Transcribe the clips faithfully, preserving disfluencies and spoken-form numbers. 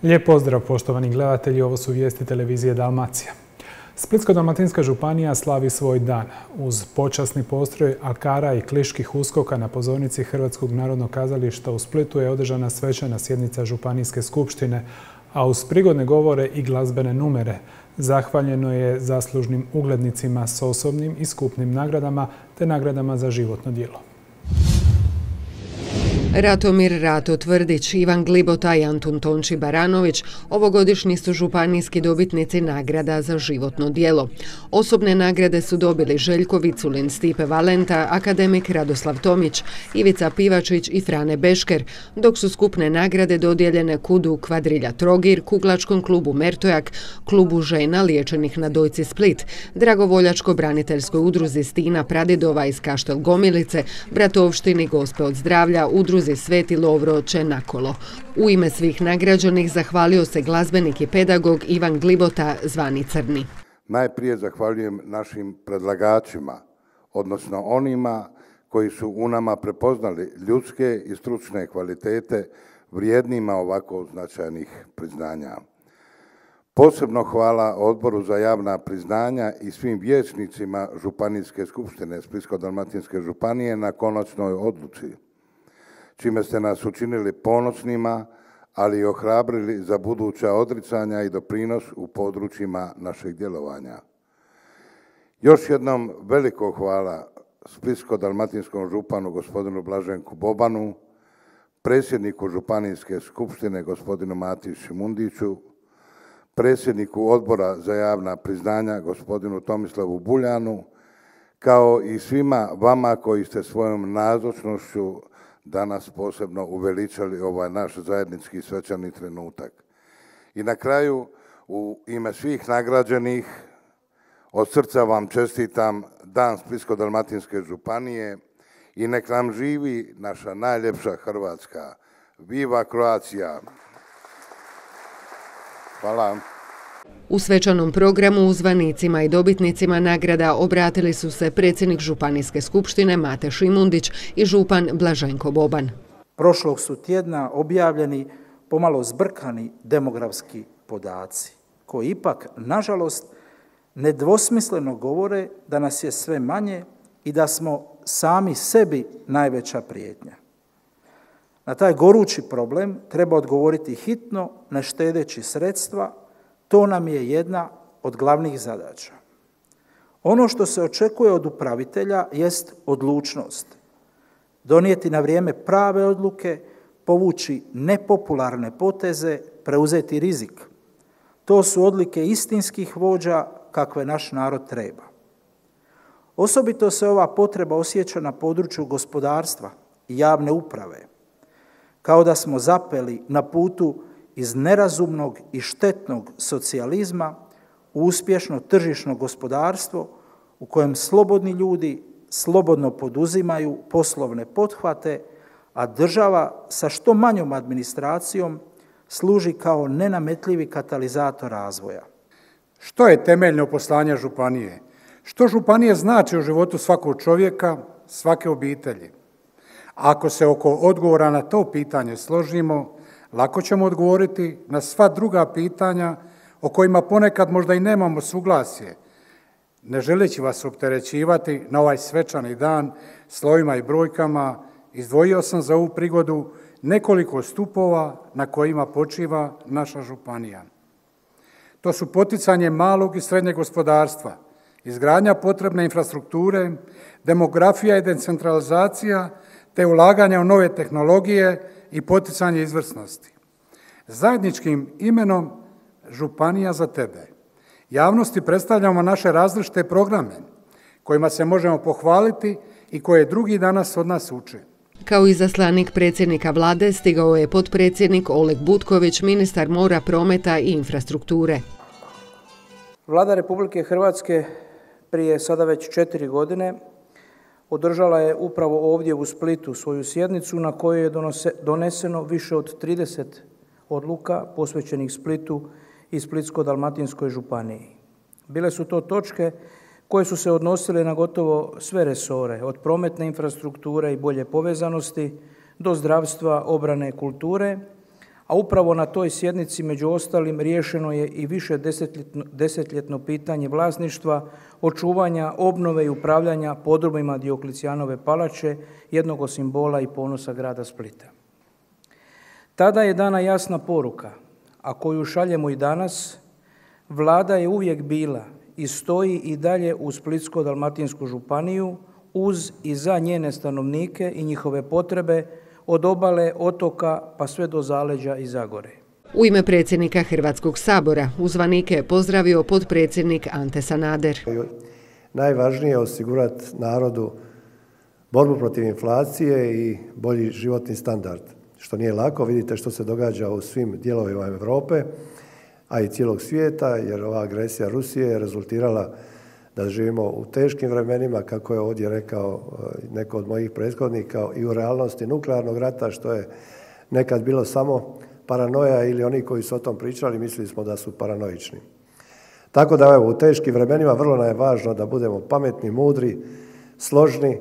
Lijep pozdrav poštovani gledatelji, ovo su vijesti televizije Dalmacija. Splitsko-dalmatinska županija slavi svoj dan. Uz počasni postroj alkara i kliških uskoka na pozornici Hrvatskog narodnog kazališta u Splitu je održana svečana sjednica Županijske skupštine, a uz prigodne govore i glazbene numere zahvaljeno je zaslužnim uglednicima s osobnim i skupnim nagradama te nagradama za životno djelo. Ratomir Rato Tvrdić, Ivan Glibota i Antun Tonči Baranović ovogodišnji su županijski dobitnici nagrada za životno djelo. Osobne nagrade su dobili Željko Viculin, Stipe Valenta, akademik Radoslav Tomić, Ivica Pivačić i Frane Bešker, dok su skupne nagrade dodijeljene Kudu Kvadrilja Trogir, Kuglačkom klubu Mertojak, klubu žena liječenih na Dojci Split, Dragovoljačko-braniteljskoj udruzi Stina Pradidova iz Kaštel Gomilice, Bratovštini Gospe od zdravlja, udruzi Sveti Lovro Čenakolo. U ime svih nagrađenih zahvalio se glazbenik i pedagog Ivan Glibota, zvani Crni. Najprije zahvaljujem našim predlagačima, odnosno onima koji su u nama prepoznali ljudske i stručne kvalitete vrijednima ovako značajnih priznanja. Posebno hvala Odboru za javna priznanja i svim vijećnicima Županijske skupštine Splitsko-dalmatinske županije na konačnoj odluci, čime ste nas učinili ponosnima, ali i ohrabrili za buduća odricanja i doprinos u područjima našeg djelovanja. Još jednom veliko hvala Splitsko-dalmatinskom županu gospodinu Blaženku Bobanu, predsjedniku Županijske skupštine gospodinu Mati Šimundiću, predsjedniku Odbora za javna priznanja gospodinu Tomislavu Buljanu, kao i svima vama koji ste svojom nazočnošću danas posebno uveličali ovaj naš zajednički svečani trenutak. I na kraju, u ime svih nagrađenih, od srca vam čestitam Dan Splitsko-dalmatinske županije i nek nam živi naša najljepša Hrvatska. Viva Croatia! Hvala. U svečanom programu uzvanicima i dobitnicima nagrada obratili su se predsjednik Županijske skupštine Mate Šimundić i župan Blaženko Boban. Prošlog su tjedna objavljeni pomalo zbrkani demografski podaci, koji ipak, nažalost, nedvosmisleno govore da nas je sve manje i da smo sami sebi najveća prijetnja. Na taj gorući problem treba odgovoriti hitno, ne štedeći sredstva. To nam je jedna od glavnih zadaća. Ono što se očekuje od upravitelja jest odlučnost. Donijeti na vrijeme prave odluke, povući nepopularne poteze, preuzeti rizik. To su odlike istinskih vođa kakve naš narod treba. Osobito se ova potreba osjeća na području gospodarstva i javne uprave. Kao da smo zapeli na putu iz nerazumnog i štetnog socijalizma u uspješno tržišno gospodarstvo u kojem slobodni ljudi slobodno poduzimaju poslovne pothvate, a država sa što manjom administracijom služi kao nenametljivi katalizator razvoja. Što je temeljno poslanje županije? Što županije znači u životu svakog čovjeka, svake obitelji? Ako se oko odgovora na to pitanje složimo, lako ćemo odgovoriti na sva druga pitanja o kojima ponekad možda i nemamo suglasje. Ne želeći vas opterećivati na ovaj svečani dan slovima i brojkama, izdvojio sam za ovu prigodu nekoliko stupova na kojima počiva naša županija. To su poticanje malog i srednjeg gospodarstva, izgradnja potrebne infrastrukture, demografija i decentralizacija, te ulaganja u nove tehnologije i poticanje izvrsnosti. Zajedničkim imenom Županija za tebe javnosti predstavljamo naše različite programe kojima se možemo pohvaliti i koje drugi danas od nas uče. Kao izaslanik predsjednika vlade stigao je potpredsjednik Oleg Butković, ministar mora, prometa i infrastrukture. Vlada Republike Hrvatske prije sada već četiri godine održala je upravo ovdje u Splitu svoju sjednicu na kojoj je doneseno više od trideset odluka posvećenih Splitu i Splitsko-dalmatinskoj županiji. Bile su to točke koje su se odnosile na gotovo sve resore, od prometne infrastrukture i bolje povezanosti do zdravstva, obrane, kulture, a upravo na toj sjednici među ostalim riješeno je i više desetljetno, desetljetno pitanje vlasništva, očuvanja, obnove i upravljanja podrumima Dioklecijanove palače, jednog od simbola i ponosa grada Splita. Tada je dana jasna poruka, a koju šaljemo i danas, Vlada je uvijek bila i stoji i dalje u Splitsko-dalmatinsku županiju uz i za njene stanovnike i njihove potrebe od obale, otoka pa sve do zaleđa i Zagore. U ime predsjednika Hrvatskog sabora uzvanike je pozdravio potpredsjednik Ante Sanader. Najvažnije je osigurati narodu borbu protiv inflacije i bolji životni standard, što nije lako. Vidite što se događa u svim dijelovima Europe, a i cijelog svijeta, jer ova agresija Rusije je rezultirala da živimo u teškim vremenima, kako je ovdje rekao neko od mojih prethodnika, i u realnosti nuklearnog rata, što je nekad bilo samo paranoja ili oni koji su o tom pričali mislili smo da su paranoični. Tako da evo, u teškim vremenima vrlo nam je važno da budemo pametni, mudri, složni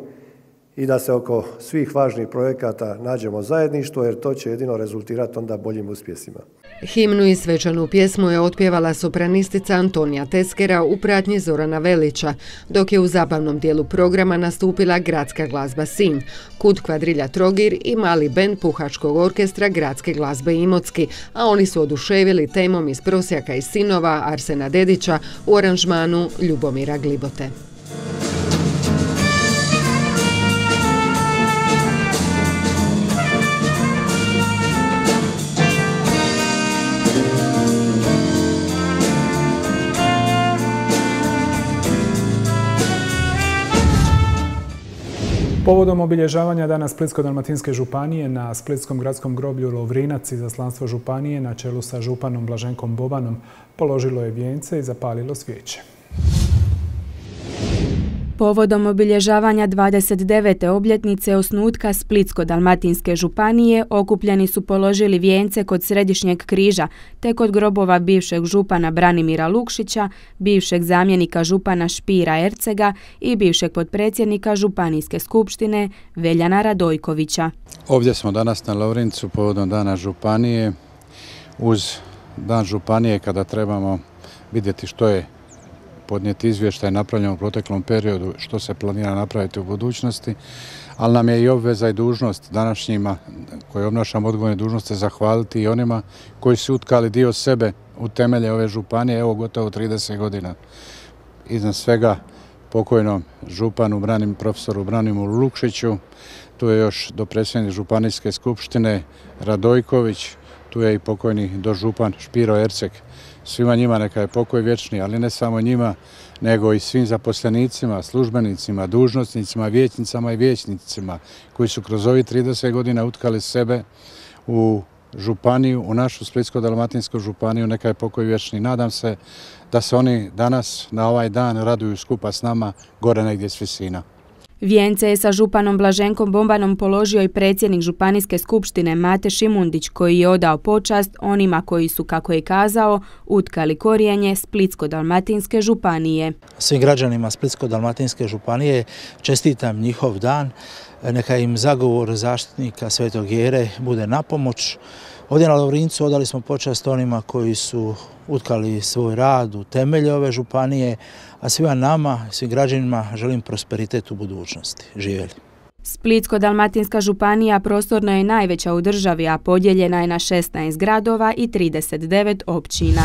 i da se oko svih važnih projekata nađemo zajedništvo, jer to će jedino rezultirati onda boljim uspjesima. Himnu i svečanu pjesmu je otpjevala sopranistica Antonija Teskera u pratnji Zorana Velića, dok je u zabavnom dijelu programa nastupila Gradska glazba Sinj, Kud kvadrilja Trogir i mali bend Puhačkog orkestra Gradske glazbe Imotski, a oni su oduševili temom iz Prosjaka i sinova Arsena Dedića u aranžmanu Ljubomira Glibote. Povodom obilježavanja Dana Splitsko-dalmatinske županije na Splitskom gradskom groblju Lovrinac izaslanstvo županije na čelu sa županom Blaženkom Bobanom položilo je vijence i zapalilo svijeće. Povodom obilježavanja dvadeset devete obljetnice osnutka Splitsko-dalmatinske županije okupljeni su položili vijence kod Središnjeg križa te kod grobova bivšeg župana Branimira Lukšića, bivšeg zamjenika župana Špira Ercega i bivšeg potpredsjednika Županijske skupštine Veljana Radojkovića. Ovdje smo danas na Lovrincu povodom Dana županije. Uz Dan županije kada trebamo vidjeti što je podnijeti izvještaj napravljeno u proteklom periodu, što se planira napraviti u budućnosti, ali nam je i obveza i dužnost današnjima koji obnašamo odgovorne dužnosti zahvaliti i onima koji su utkali dio sebe u temelje ove županije, evo gotovo trideset godina. Iznad svega pokojnom županu, branim, profesoru Branimiru Lukšiću, tu je još dopredsjednik Županijske skupštine Radojković, tu je i pokojni dožupan Špiro Erceg. Svima njima neka je pokoj vječni, ali ne samo njima, nego i svim zaposlenicima, službenicima, dužnosnicima, vijećnicama i vijećnicima koji su kroz ovih trideset godina utkali sebe u županiju, u našu Splitsko-dalmatinsku županiju, neka je pokoj vječni. Nadam se da se oni danas na ovaj dan raduju skupa s nama gore negdje s visina. Vijence je sa županom Blaženkom Bobanom položio i predsjednik Županijske skupštine Mate Šimundić, koji je odao počast onima koji su, kako je kazao, utkali korijenje Splitsko-dalmatinske županije. Svim građanima Splitsko-dalmatinske županije čestitam njihov dan. Neka im zagovor zaštitnika Svetog Jere bude na pomoć. Ovdje na Lovrincu odali smo počast onima koji su utkali svoj rad u temelje ove županije, a svima nama, svim građanima želim prosperitet u budućnosti. Živjeli. Splitsko-dalmatinska županija prostorno je najveća u državi, a podijeljena je na šesnaest gradova i trideset devet općina.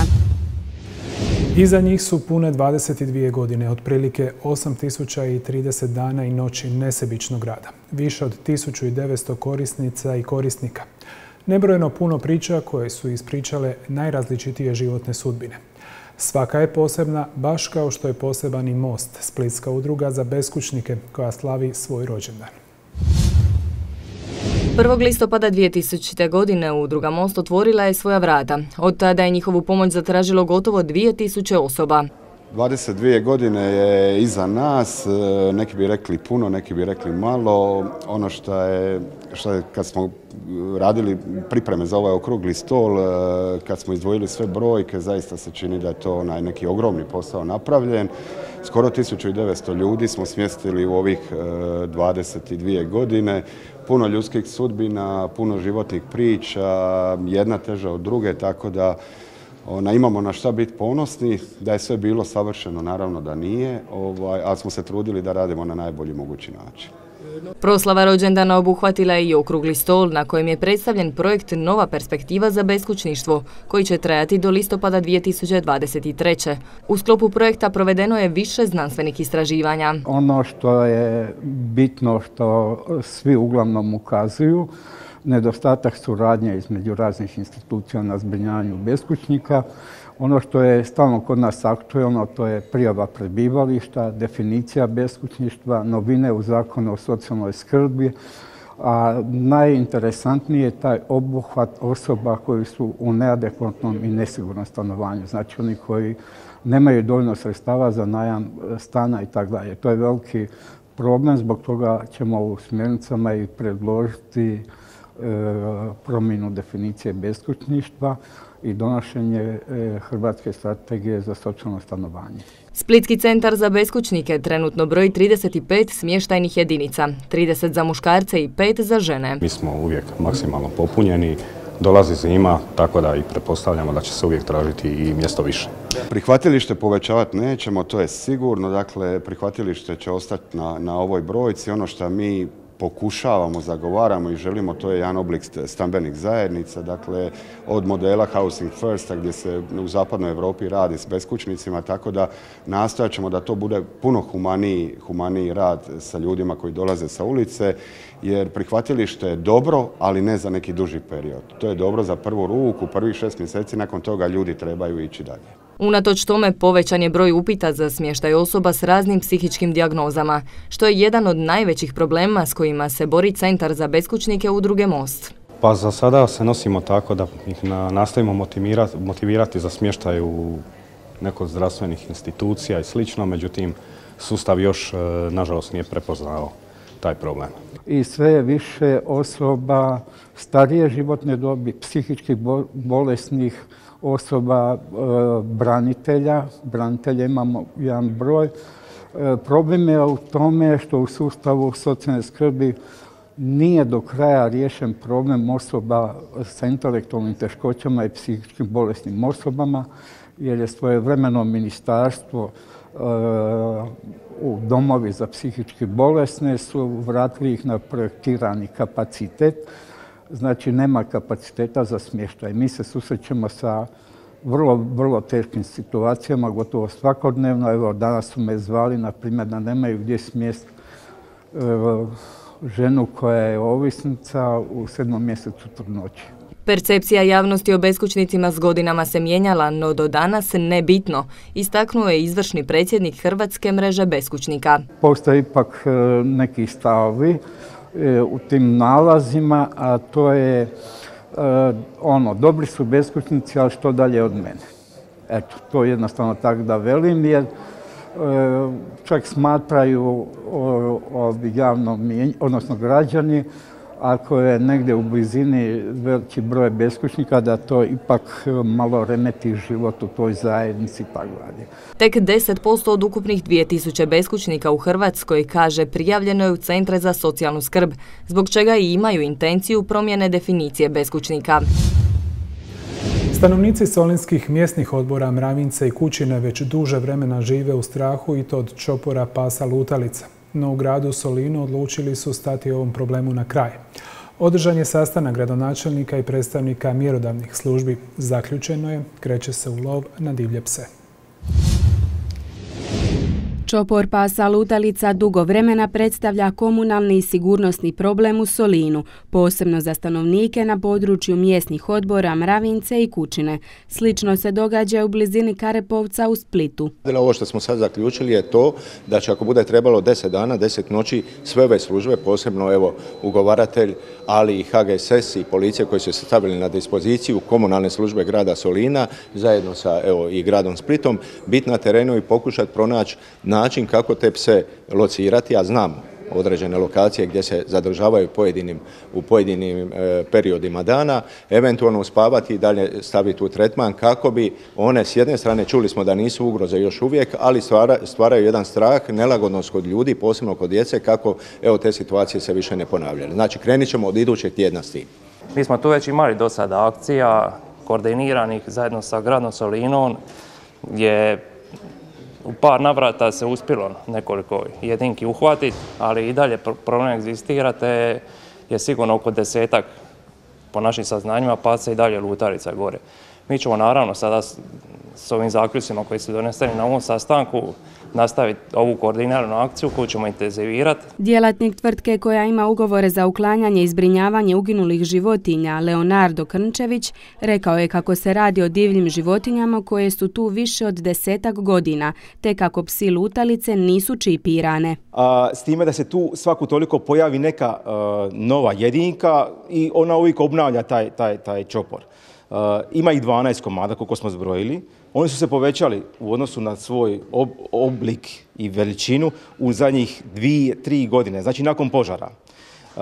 Iza njih su pune dvadeset dvije godine, otprilike osam tisuća trideset dana i noći nesebičnog rada. Više od tisuću devetsto korisnica i korisnika. Nebrojeno puno priča koje su ispričale najrazličitije životne sudbine. Svaka je posebna, baš kao što je poseban i Most, Splitska udruga za beskućnike koja slavi svoj rođendan. prvog listopada dvije tisućite. godine udruga Most otvorila je svoja vrata. Od tada je njihovu pomoć zatražilo gotovo dvije tisuće osoba. dvadeset dvije godine je iza nas, neki bi rekli puno, neki bi rekli malo. Ono što je, što je kad smo radili pripreme za ovaj okrugli stol, kad smo izdvojili sve brojke, zaista se čini da je to onaj neki ogromni posao napravljen. Skoro tisuću devetsto ljudi smo smjestili u ovih dvadeset dvije godine. Puno ljudskih sudbina, puno životnih priča, jedna teža od druge, tako da ona, imamo na šta biti ponosni. Da je sve bilo savršeno, naravno da nije, ovaj, ali smo se trudili da radimo na najbolji mogući način. Proslava rođendana obuhvatila je i okrugli stol na kojem je predstavljen projekt Nova perspektiva za beskućništvo, koji će trajati do listopada dvije tisuće dvadeset treće. U sklopu projekta provedeno je više znanstvenih istraživanja. Ono što je bitno, što svi uglavnom ukazuju, nedostatak suradnje između raznih institucija na zbrinjavanju beskućnika. Ono što je stalno kod nas aktuelno, to je prijava prebivališta, definicija beskućništva, novine u zakonu o socijalnoj skrbi, a najinteresantnije je taj obuhvat osoba koji su u neadekvatnom i nesigurnom stanovanju, znači oni koji nemaju dovoljno sredstava za najam stana i tako dalje. To je veliki problem, zbog toga ćemo u smjernicama i predložiti promjenu definicije beskućništva i donošenje Hrvatske strategije za socijalno stanovanje. Splitski centar za beskućnike trenutno broji trideset pet smještajnih jedinica, trideset za muškarce i pet za žene. Mi smo uvijek maksimalno popunjeni, dolazi zima, tako da i pretpostavljamo da će se uvijek tražiti i mjesto više. Prihvatilište povećavati nećemo, to je sigurno, dakle prihvatilište će ostati na, na ovoj brojci. Ono što mi pokušavamo, zagovaramo i želimo, to je jedan oblik stambenih zajednica, dakle od modela Housing Firsta gdje se u zapadnoj Europi radi s beskućnicima, tako da nastojat ćemo da to bude puno humaniji, humaniji rad sa ljudima koji dolaze sa ulice, jer prihvatilište je dobro, ali ne za neki duži period. To je dobro za prvu ruku, prvih šest mjeseci, nakon toga ljudi trebaju ići dalje. Unatoč tome povećan je broj upita za smještaj osoba s raznim psihičkim dijagnozama, što je jedan od najvećih problema s kojima se bori Centar za beskućnike Udruge Most. Pa za sada se nosimo tako da ih nastavimo motivirati, motivirati za smještaj u neko zdravstvenih institucija i slično, međutim sustav još nažalost nije prepoznao taj problem. I sve je više osoba starije životne dobi, psihički bolesnih osoba, branitelja. Branitelja imamo jedan broj. Problem je u tome što u sustavu socijalne skrbi nije do kraja riješen problem osoba sa intelektualnim teškoćama i psihičkim bolesnim osobama, jer je svojevremeno ministarstvo u domovi za psihički bolesne su vratili ih na projektirani kapacitet, znači nema kapaciteta za smještaj. Mi se susrećemo sa vrlo, vrlo teškim situacijama, gotovo svakodnevno. Evo, danas su me zvali, na primjer, da nemaju gdje smjest ženu koja je ovisnica u sedmom mjesecu trudnoće. Percepcija javnosti o beskućnicima s godinama se mijenjala, no do danas nebitno, istaknuo je izvršni predsjednik Hrvatske mreže beskućnika. Postoje ipak neki stavovi u tim nalazima, a to je ono, dobri su beskućnici, ali što dalje od mene. Eto, to jednostavno tako da velim, jer čak smatraju javno, odnosno građani, ako je negdje u blizini veliki broj beskućnika, da to ipak malo remeti život u toj zajednici i tako dalje. Tek deset posto od ukupnih dvije tisuće beskućnika u Hrvatskoj, kaže, prijavljeno je u centre za socijalnu skrb, zbog čega i imaju intenciju promjene definicije beskućnika. Stanovnici solinskih mjesnih odbora Mravince i Kućine već duže vremena žive u strahu i to od čopora pasa lutalica. No u gradu Solinu odlučili su stati ovom problemu na kraj. Održan je sastanak gradonačelnika i predstavnika mjerodavnih službi. Zaključeno je, kreće se u lov na divlje pse. Čopor pasa lutalica dugo vremena predstavlja komunalni i sigurnosni problem u Solinu, posebno za stanovnike na području mjesnih odbora Mravince i Kućine. Slično se događa u blizini Karepovca u Splitu. Ovo što smo sad zaključili je to da će, ako bude trebalo deset dana, deset noći, sve ove službe, posebno evo ugovaratelj, ali i H G S S i policija koji su se stavili na dispoziciju, komunalne službe grada Solina, zajedno sa evo, i gradom Splitom, biti na terenu i pokušati pronaći način kako te pse locirati. Ja znam određene lokacije gdje se zadržavaju pojedinim, u pojedinim e, periodima dana, eventualno uspavati i dalje staviti u tretman kako bi one s jedne strane, čuli smo da nisu ugroze još uvijek, ali stvara, stvaraju jedan strah, nelagodnost kod ljudi, posebno kod djece, kako evo te situacije se više ne ponavljaju. Znači krenit ćemo od idućeg tjedna s tim. Mi smo tu već imali do sada akcija koordiniranih zajedno sa gradom Solinom, gdje u par navrata se uspjelo nekoliko jedinki uhvatiti, ali i dalje problem egzistira, te je sigurno oko desetak, po našim saznanjima, paca i dalje lutalica gore. Mi ćemo naravno sada s ovim zaključcima koji su doneseni na ovom sastanku nastaviti ovu koordiniranu akciju koju ćemo intenzivirati. Djelatnik tvrtke koja ima ugovore za uklanjanje i zbrinjavanje uginulih životinja, Leonardo Krnčević, rekao je kako se radi o divljim životinjama koje su tu više od desetak godina, te kako psi lutalice nisu čipirane. A, s time da se tu svaku toliko pojavi neka a, nova jedinka i ona uvijek obnavlja taj, taj, taj čopor. Uh, ima ih dvanaest komada, koliko smo zbrojili. Oni su se povećali u odnosu na svoj ob, oblik i veličinu u zadnjih dvije, tri godine, znači nakon požara. Uh,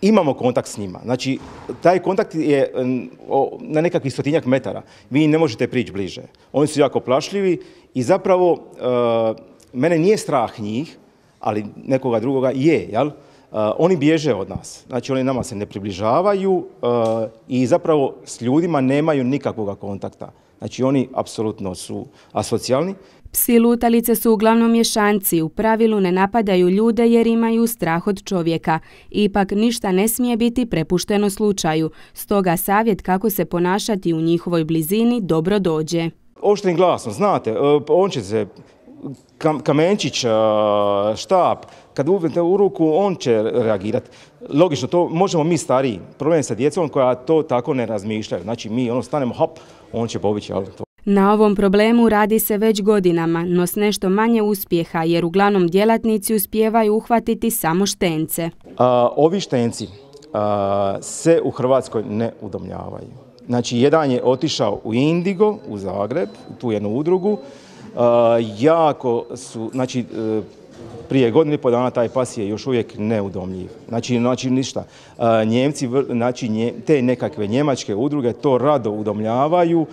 imamo kontakt s njima. Znači, taj kontakt je um, o, na nekakvih stotinjak metara. Vi ne možete prići bliže. Oni su jako plašljivi i zapravo uh, mene nije strah njih, ali nekoga drugoga je, jel? Uh, oni bježe od nas, znači oni nama se ne približavaju uh, i zapravo s ljudima nemaju nikakvog kontakta. Znači oni apsolutno su asocijalni. Psi lutalice su uglavnom mješanci, u pravilu ne napadaju ljude jer imaju strah od čovjeka. Ipak ništa ne smije biti prepušteno slučaju, stoga savjet kako se ponašati u njihovoj blizini dobro dođe. Oštrim glasom, znate, uh, on će se... kamenčić, štap, kad uzmete u ruku, on će reagirati. Logično, to možemo mi stariji. Problem je sa djecom koja to tako ne razmišljaju. Znači mi ono stanemo, hop, on će pobići. Na ovom problemu radi se već godinama, no s nešto manje uspjeha, jer uglavnom djelatnici uspijevaju uhvatiti samo štence. A, ovi štenci a, se u Hrvatskoj ne udomljavaju. Znači, jedan je otišao u Indigo, u Zagreb, tu jednu udrugu. Uh, jako su, znači uh, prije godine i pol dana taj pas je još uvijek neudomljiv. Znači, znači ništa. Uh, Njemci, znači nje, te nekakve njemačke udruge to rado udomljavaju uh,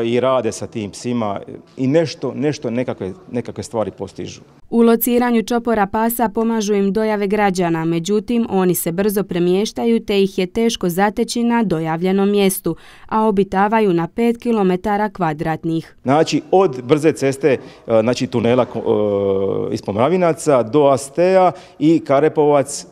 i rade sa tim psima i nešto, nešto nekakve, nekakve stvari postižu. U lociranju čopora pasa pomažu im dojave građana, međutim oni se brzo premještaju te ih je teško zateći na dojavljenom mjestu, a obitavaju na pet kilometara kvadratnih. Znači od brze ceste, znači tunela iz Pomravinaca do Astea i Karepovac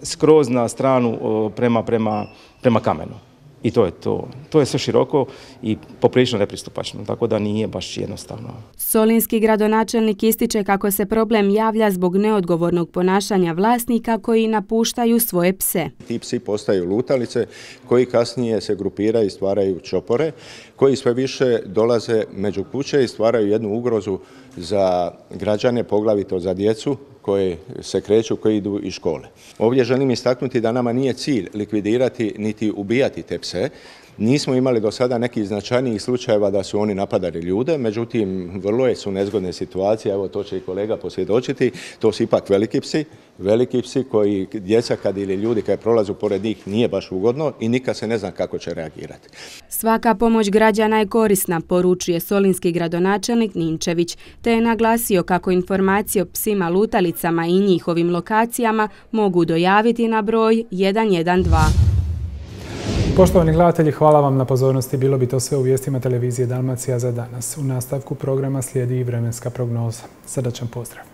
skroz na stranu prema, prema, prema Kamenu. I to je to. To je sve široko i poprilično nepristupačno, tako da nije baš jednostavno. Solinski gradonačelnik ističe kako se problem javlja zbog neodgovornog ponašanja vlasnika koji napuštaju svoje pse. Ti psi postaju lutalice koji kasnije se grupiraju i stvaraju čopore, koji sve više dolaze među kuće i stvaraju jednu ugrozu za građane, poglavito za djecu koje se kreću, koji idu iz škole. Ovdje želim istaknuti da nama nije cilj likvidirati niti ubijati te pse. Nismo imali do sada nekih značajnijih slučajeva da su oni napadali ljude, međutim, vrlo su nezgodne situacije, evo to će i kolega posvjedočiti, to su ipak veliki psi, veliki psi koji djeca kad ili ljudi kad prolazu pored njih nije baš ugodno i nikad se ne zna kako će reagirati. Svaka pomoć građana je korisna, poručuje solinski gradonačelnik Ninčević, te je naglasio kako informacije o psima lutalicama i njihovim lokacijama mogu dojaviti na broj jedan jedan dva. Poštovani gledatelji, hvala vam na pozornosti. Bilo bi to sve u vijestima televizije Dalmacija za danas. U nastavku programa slijedi i vremenska prognoza. Srdačan pozdrav.